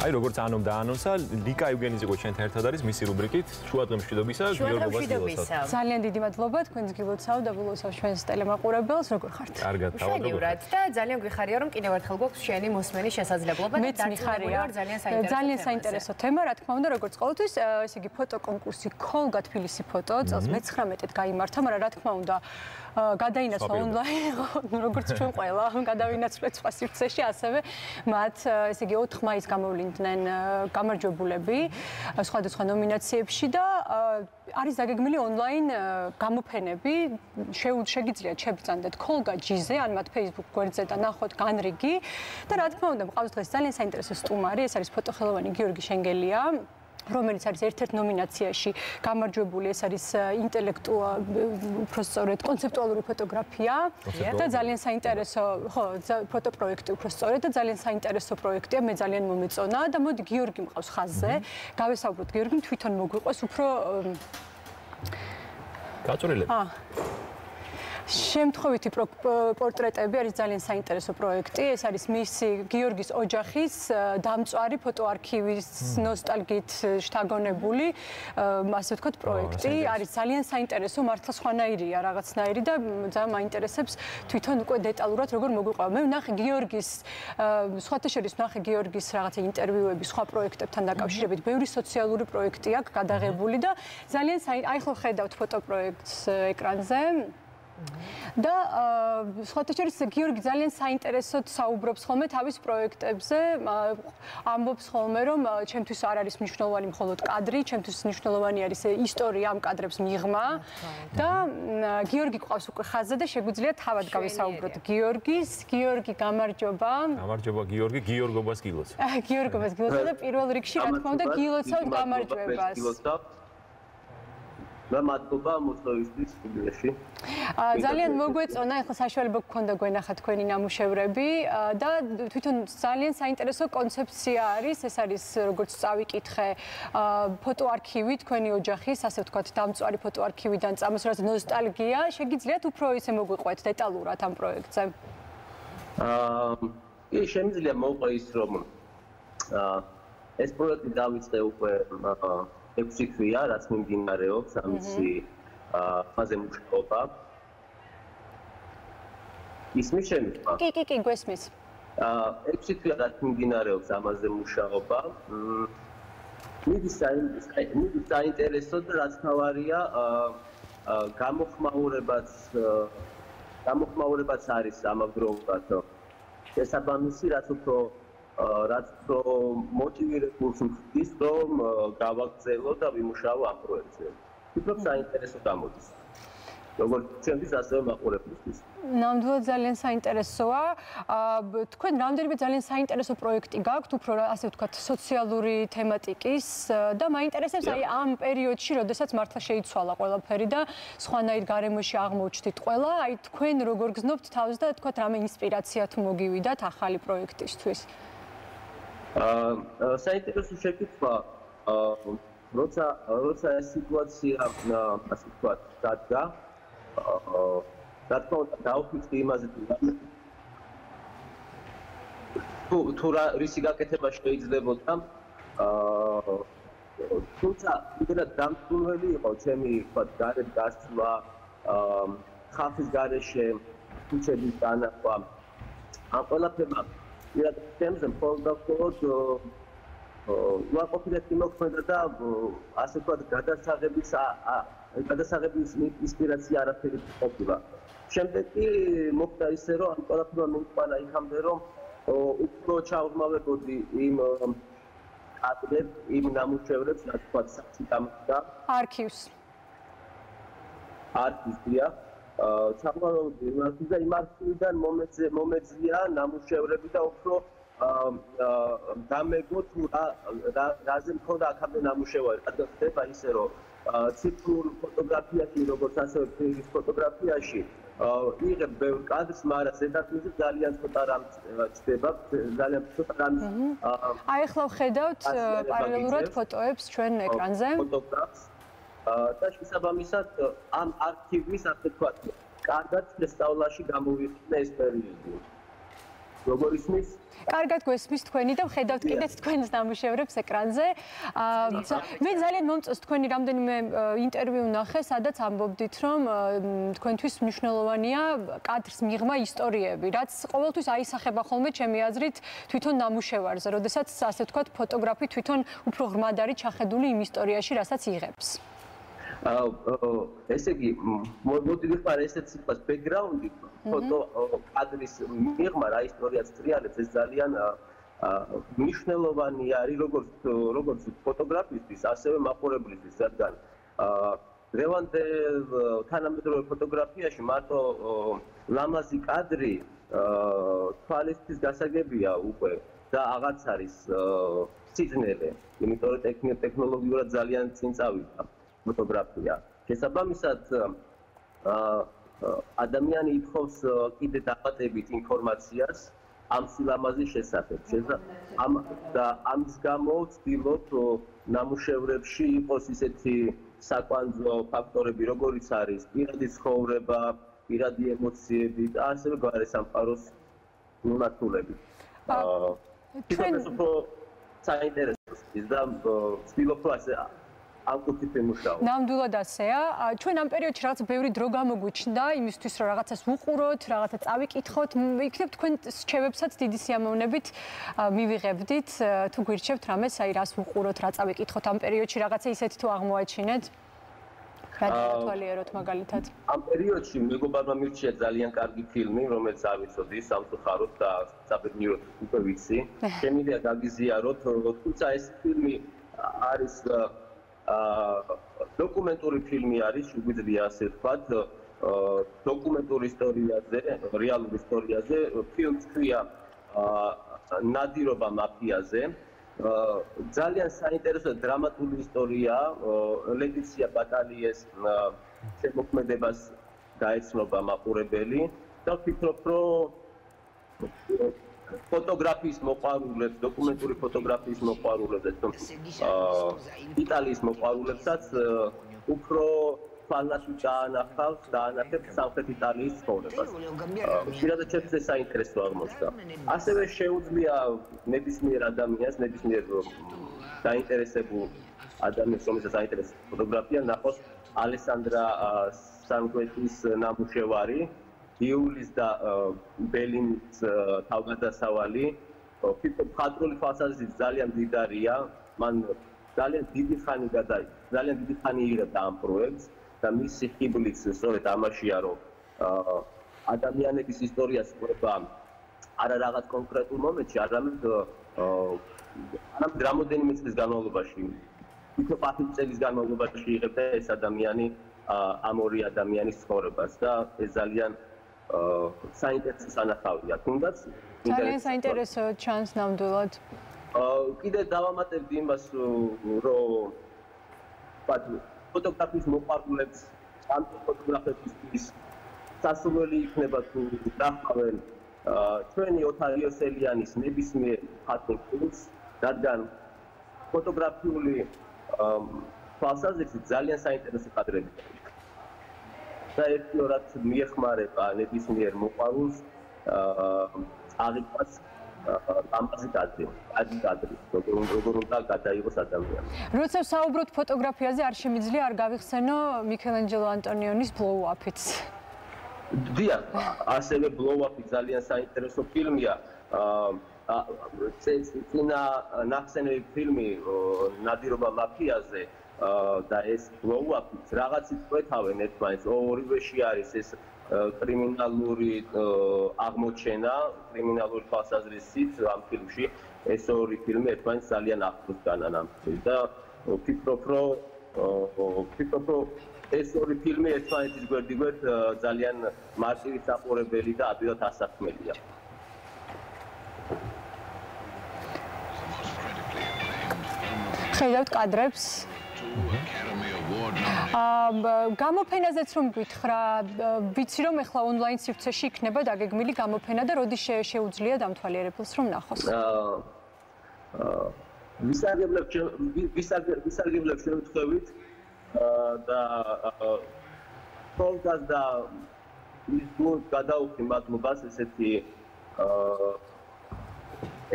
აი როგორც ანობ და ანონსა, ლიკა ევგენიძე ჩვენთან ერთად არის მისი რუბრიკით შუადღე მშვიდობისა, გიორგობას გილოცავ. ძალიან დიდი მადლობა, თქვენს გილოცავ და გილოცავ ჩვენს ტელემაყურებელს, როგორ ხართ? კარგად, თავადობრივად და ძალიან გვიხარია რომ კიდევ ერთხელ გვაქვს შენი მოსმენის შესაძლებლობა და დარწმუნებული ვარ ძალიან საინტერესო თემა, რა თქმა უნდა, როგორც ყოველთვის, ესე იგი ფოტოკონკურსი Kolga თბილისი ფოტო წელს მე-19-ით გაიმართა, მაგრამ რა თქმა უნდა გადაინაცვლა ონლაინ, როგორც ჩვენ ყველა გადავინაცვლეთ სხვა სივრცეში, ასევე მათ ესე იგი 4 მაისს გამოვლინდნენ გამარჯვებულები სხვადასხვა ნომინაციებში და არის დაგეგმილი ონლაინ გამოფენები, შეგიძლიათ შეგბრძანდეთ Kolga G-ზე, ან მათ Facebook გვერდზე და ნახოთ განრიგი და რა თქმა უნდა, მყავს დღეს ძალიან საინტერესო სტუმარი, ეს არის ფოტოხელოვანი გიორგი შენგელია. რომელიც არის ერთ-ერთ ნომინაციაში გამარჯვებული, ეს არის ინტელექტუალური კონცეპტუალური ფოტოგრაფია და ძალიან საინტერესო, ხო, ფოტოპროექტი უფრო სწორედ და ძალიან საინტერესო პროექტია, მე ძალიან მომეწონა და მოდი გიორგი მყავს ხაზზე. გავესაუბროთ გიორგიმ, თვითონ მოგვიყვეს უფრო გაწვრილები. შემთხვევითი პორტრეტები არის ძალიან საინტერესო პროექტი. ეს არის მისი გიორგის ოჯახის დამწვარი ფოტოარქივის ნოსტალგიით შთაგონებული, ასე ვთქვათ, პროექტი. არის ძალიან საინტერესო, მართლა სხვანაირია რაღაცნაირი და ძალიან მაინტერესებს თვითონ უკვე დეტალურად როგორ მოგვიყვება. მე ვნახე გიორგის სხვათა შორის ვნახე გიორგის რაღაცა ინტერვიუები სხვა პროექტებთან დაკავშირებით. ბევრი სოციალური პროექტი აქვს გადაღებული და ძალიან აი ხო ხედავთ ფოტოპროექტს ეკრანზე. და სხვათა შორის გიორგი ძალიან საინტერესოდ საუბრობს ხოლმე თავის პროექტებზე, ამბობს ხოლმე რომ ჩემთვის არ არის მნიშვნელოვანი მხოლოდ კადრი, ჩემთვის მნიშვნელოვანი არის ისტორია ამ კადრებს მიღმა და გიორგი ყავს უკვე ხაზზე და შეგვიძლია თავად გავისაუბროთ გიორგი გამარჯობა. გამარჯობა გიორგი, გიორგობას გილოცავ. გიორგობას გილოცავ და პირველ რიგში რა თქმა უნდა გილოცავ გამარჯვებას. და მადლობა მოწვევისთვის სტუდიაში. ძალიან მოგვეწონა, ახლა საშუალება გქონდა გვენახა თქვენი ნამუშევრები და თვითონ ძალიან საინტერესო კონცეფცია არის, ეს არის როგორც წავიკითხე ფოტოარქივი თქვენი ოჯახის, ასე ვთქვათ, დამწვარი ფოტოარქივიდან წამოსვლას ნოსტალგია, შეგიძლიათ უფრო ისე მოგვიყვეთ დეტალურად ამ პროექტზე? შემიძლია მოვყვე ის რომ ეს პროექტი დავიწყე უკვე 6 თვეა, რაც მიმდინარეობს ამისი ფაზე მუშაობა. ისმის შემიძლია? კი, გვესმის. 6 თვეა რაც მიმდინარეობს ამაზე მუშაობა. მიდის საინტერესო და რაც თავარია, გამოხმაურებაც არის ამავდროულად. შესაბამისი, რაც უფრო მოტივირებულს ვხდის, რომ გავაგრძელო და ვიმუშაო ამ პროექტზე. ვფიქრობ, საინტერესო გამოდის. როგორც ჩემთვის, ასევე მაყურებლისთვის. ნამდვილად ძალიან საინტერესოა. თქვენ რამდენიმე ძალიან საინტერესო პროექტი გაქვთ, უფრო ასე ვთქვათ, სოციალური თემატიკის და მაინტერესებს აი ამ პერიოდში, როდესაც მართლა შეიცვალა ყველაფერი და სხვანაირ გარემოში აღმოჩნდით ყველა, აი თქვენ როგორ გზნობთ თავს და თქვათ რამე ინსპირაცია თუ მოგივიდათ ახალი პროექტისთვის? საინტერესო შეკითხვა, როცა ეს სიტუაცია, ასე ვთქვათ, დადგა, რა თქმა უნდა, დავფიქრდი იმაზე, თუ რისი გაკეთება შეიძლებოდა, თუმცა იმედად დამწუნებელი იყო ჩემი, ვთქვათ, გარეთ გასვლა, ხალხის გარეშე, ქუჩების დანახვა, ამ ყველაფერმა თემზე მხოლოდ უარყოფითი მოქმედა და ასე ვთქვათ გადასაღების ინსპირაცია არაფერი ყოფილა. შემდეგ კი მოხდა ისე, რომ ამ ყველაფერმა მივყვანა იქამდე, რომ უფრო ჩაუღმავებოდი იმ კადრებს, იმ ნამუშევრებს, რაც ვთქვათ, საქმე და არქივს. არქივია. ჩამოვარდი და იმ არქივიდან მომეძია ნამუშევრები და უფრო დამეგო თუ რაზე მქონდა აქამდე ნამუშევარი. რადგან ხდება ისე, რომ ციფრულ ფოტოგრაფიაში, როგორც ასევე ფილმის ფოტოგრაფიაში იღებ ბევრ კადრს, მაგრამ ზედაპირზე ძალიან ცოტა რამ ჩდება, ძალიან ცოტა რამ. აი ახლა ვხედავთ პარალელურად ფოტოებს ჩვენ ეკრანზე. ფოტოგრაფს და შესაბამისად ამ არქივის, ასე ვთქვათ, კარგად შესწავლაში გამოვიყენე ეს პერიოდი. როგორ ისმის? კარგად გვესმის თქვენი და ვხედავთ კიდეც თქვენს ნამუშევრებს ეკრანზე. მე ძალიან მომწონს თქვენი რამდენიმე ინტერვიუ ნახე, სადაც ამბობდით, რომ თქვენთვის მნიშვნელოვანია კადრს მიღმა ისტორიები, რაც ყოველთვის აისახება ხოლმე ჩემი აზრით თვითონ ნამუშევარზე, როდესაც ასე ვთქვათ, ფოტოგრაფი თვითონ უფრო ღრმად არის ჩახედული იმ ისტორიაში, რასაც იღებს. ესე იგი, მოდი ვიხმარ ესეც სიტყვას ბექგრაუნდი, ფოტო კადრის მიღმა რა ისტორიაც ტრიალებს, ეს ძალიან მნიშვნელოვანი არის როგორც ფოტოგრაფისტის, ასევე მაყურებლისთვის, რადგან დღევანდელ თანამედროვე ფოტოგრაფიაში მარტო ლამაზი კადრი თვალისთვის გასაგებია უკვე და აღარც არის სიძნელე, იმიტომ რომ ტექნოლოგიურად ძალიან წინ წავიდა ფოტოგრაფია. შესაბამისად, ადამიანი ითხოვს კიდე დამატებით ინფორმაციას ამ სილამაზის შესახებ. და ამის გამო ვცდილობ ნამუშევრებში იყოს ისეთი საკვანძო ფაქტორები, როგორიც არის პირადი ცხოვრება, პირადი ემოციები და ასევე გარესამყაროს მიმართულებით. ჩვენ უფრო საინტერესო ის და ვცდილობ რომ ასე ნამდვილად ასეა. ჩვენ ამ პერიოდში რაღაც ბევრი დრო გამოგვიჩნდა იმისთვის, რომ რაღაცას ვუყუროთ, რაღაცა წავიკითხოთ. იქნებ თქვენ რჩევებსაც დიდი სიამოვნებით მივიღებდით. თუ გვირჩევთ რამეს, აი რას ვუყუროთ, რა წავიკითხოთ ამ პერიოდში, რაღაცა ისეთი თუ აღმოაჩინეთ. რა დავთვალიეროთ მაგალითად? ამ პერიოდში მეგობარმა მირჩია ძალიან კარგი ფილმი, რომელიც არ ვიცოდი, სამწუხაროდ და საბედნიეროდ უკვე ვიცი. შემიძლია გაგიზიაროთ, თუმცა ეს ფილმი არის დოკუმენტური ფილმი არის, შეგვიძლია ასე ვთქვათ, დოკუმენტური ისტორიაზე, რეალური ისტორიაზე, ფილმს ქვია ნადირობა მაფიაზე. ძალიან საინტერესო დრამატული ისტორიაა, ლეტიცია ბატალიეს შემოქმედებას გაეცნობა მაყურებელი და ვფიქრობ, რომ ფოტოგრაფიის მოყვარულებს, დოკუმენტური ფოტოგრაფიის მოყვარულებს, იტალიის მოყვარულებსაც უფრო ფალასი დაანახებთ სამხრეთ იტალიის ცხოვრებას. პირადად ჩემს ეს საინტერესო აღმოჩნდა. ასევე შეუძლია ნებისმიერ ადამიანს, ნებისმიერ დაინტერესებულ ადამიანს, რომელსაც აინტერესებს ფოტოგრაფია, ნახოს ალესანდრა სანგვეტის ნამუშევარი. იულის და ბელინის თავგადასავალი, ფიქრობ, მხატვრული თვალსაზრისით ძალიან მდიდარია, მან ძალიან დიდი ხანი იღებდა ამ პროექტს და მისი ხიბლიც სწორედ ამაშია, რომ ადამიანების ისტორიას ყვება არა რაღაც კონკრეტულ მომენტში, არამედ რამდენიმე წლის განმავლობაში, თითო 5 წლის განმავლობაში იღებდა ეს ადამიანი ამ ორი ადამიანის ცხოვრებას და ეს ძალიან საინტერესო სანახავია. თუნდაც ძალიან საინტერესო ჩანს ნამდვილად. კიდე დავამატებდი იმას, რომ ფოტოგრაფიის მოყვარულებს ამ ფოტოგრაფების სასურველი იქნება თუ დახვევენ ჩვენი ოთარ იოსელიანის ნებისმიერ მხატვრულ ფილმს, რადგან ფოტოგრაფიული თვალსაზრისით ძალიან საინტერესო კადრები და ერთიორად მიეხმარება ნებისმიერ მოყვარულს აღიქვას ამაზე კადრი, როგორ უნდა გადაიღოს ადამიანი. როცა საუბრობთ ფოტოგრაფიაზე, არ შემიძლია არ გავიხსენო მიქელანჯელო ანტონიონის ბლოუ-აპიც. დიახ, ასევე ბლოუ-აპი ძალიან საინტერესო ფილმია. წინა ნახსენები ფილმი ნადირობა მაფიაზე და ეს ბლოუ-აპიც რაღაცით ყვეთავენ ერთმანეთს, ორივეში არის ეს კრიმინალური აღმოჩენა, კრიმინალური თვალსაზრისით ამ ფილმში ეს ორი ფილმი ერთმანეთს ძალიან ახლოს განან ამ ფილმს და ვფიქრობ, რომ ეს ორი ფილმი ერთმანეთის გვერდიგვერდ ძალიან მარტივი საყურებელი და ადვილად ასაქმელია. ხედავთ კადრებს. გამოფენაზეც რომ გითხრა, ვიცი რომ ახლა ონლაინ სივრცეში იქნება დაგეგმილი გამოფენა და როდის შეუძლია დამთვალიერებელს რომ ნახოს? ვისარგებლებ შემთხვევით და თოლგას და ის გულ გადაუხდი მადლობას ესეთი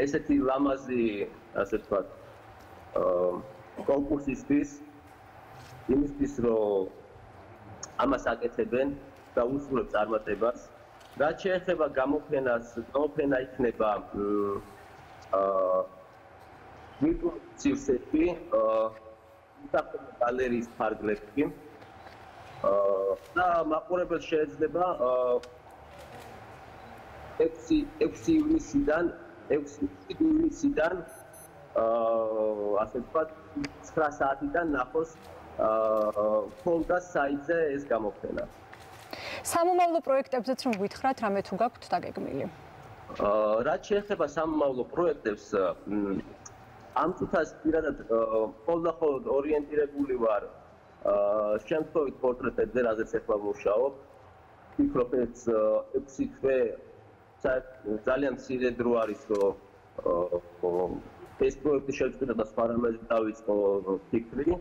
ესეთი ლამაზი, ასე ვთქვათ, კონკურსისთვის, იმისთვის, რომ ამას აკეთებენ და უსურვებს წარმატებას. რაც შეეხება გამოფენას, გამოფენა იქნება ვირტუალურ სივრცეში, საფრთხე გალერეის ფარგლებში. და მაყურებელს შეიძლება 6 ივნისიდან ასე ვთქვათ 9 საათიდან ნახოს ფონდას საიტზე ეს გამოფენა. სამომავლო პროექტებზეც რომ გითხრათ, რამე თუ გაქვთ დაგეგმილი? რაც შეეხება სამომავლო პროექტებს, ამ წუთას პირადად მხოლოდ ორიენტირებული ვარ შემთხვევით პორტრეტებზე, რაზეც ახლა ვმუშაობ. ვფიქრობ, ეს 6 თვე ძალიან მცირე დრო არის, რომ ეს პროექტი შეგვიძლია და სხვა რამეზე დავიწყო ფიქრი.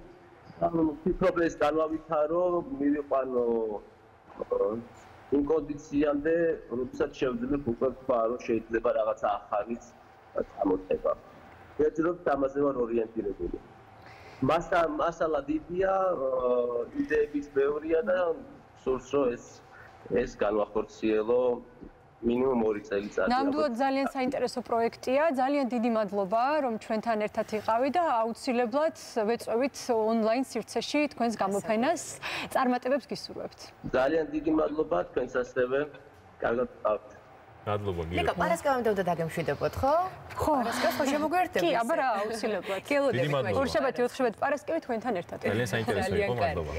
ვფიქრობ, ეს განავითარო, მივიყვანო იმ კონდიციამდე, როდესაც შევძლებ უკვე თქვა, რომ შეიძლება რაღაცა ახალის წამოწება. ვეძრობ ამაზე ვარ ორიენტირებული. მასალა დიდია, იდეების ბევრია და სურს რომ ეს განვახორციელო მინიმუმ 2 წელიწადი. ნამდვილად ძალიან საინტერესო პროექტია. ძალიან დიდი მადლობა, რომ ჩვენთან ერთად იყავით და აუცილებლად ვეწვევით ონლაინ სივრცეში თქვენს გამოფენას. წარმატებებს გისურვებთ. ძალიან დიდი მადლობა თქვენს ასევე. კარგად ვყავთ. მადლობა გიორგი. ნიკო, პარასკევამდე უნდა დაგემშვიდობოთ, ხო? ხო. პარასკევს ხო შემოგვერთებით? კი, აბა რა, აუცილებლად. გელოდებით. ორშაბათი, ოთხშაბათი, პარასკევი თქვენთან ერთად. ძალიან საინტერესო იყო, მადლობა.